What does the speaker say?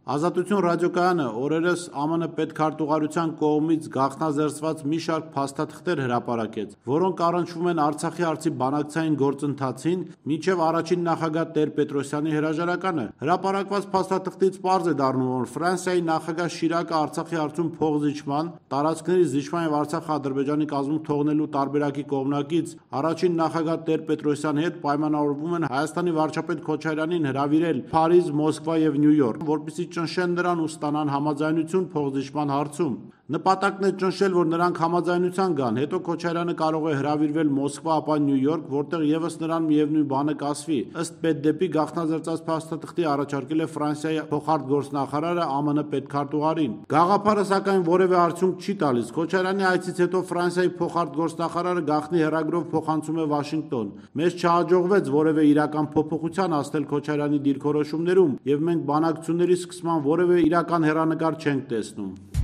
Ազատություն ռադիոկայանը օրերս ԱՄՆ պետքարտուղարության կողմից գաղտնազերծված մի շարք փաստաթղթեր հրապարակեց, որոնք առնչվում են Արցախի հարցի բանակցային գործընթացին մինչև առաջին նախագահ Տեր-Պետրոսյանի հրաժարականը։ Հրապարակված փաստաթղթից պարզ է դառնում, որ Ֆրանսիայի նախագահ Շիրակը Արցախի հարցում փոխզիջման, տարածքների զիջման եւ Արցախը Ադրբեջանի կազմում թողնելու տարբերակի կողմնակից առաջին նախագահ Տեր-Պետրոսյանի հետ պայմանավորվում են Հայաստանի վարչապետ Քոչարյանին հրավիրել Փարիզ, Մոսկվա եւ Նյու Յորք, որպեսզի ճնշեն նրան ու ստանան համաձայնություն փոխզիջման հարցում։ Նպատակն է ճնշել, որ նրանք համաձայնության գան, հետո Քոչարյանը կարող է հրավիրվել Մոսկվա, ապա Նյու Յորք, որտեղ եւս նրան միևնույն բանը կասվի։ Ըստ պետդեպի գաղտնազերծած փաստաթղթի առաջարկել է Ֆրանսիայի փոխարտգործնախարարը ԱՄՆ պետքարտուղարին։ Գաղափարը սակայն որևէ արդյունք չի տալիս։ Քոչարյանի այցից հետո Ֆրանսիայի փոխարտգործնախարարը գաղտնի հեռագրով փոխանցում է Վաշինգտոն։ Մեզ չհաջողվեց որևէ իրական փոփոխության հասնել Քոչարյանի դիրքորոշումներում, եւ մենք բանակցությունների սկսման որևէ իրական հեռանկար չենք տեսնում։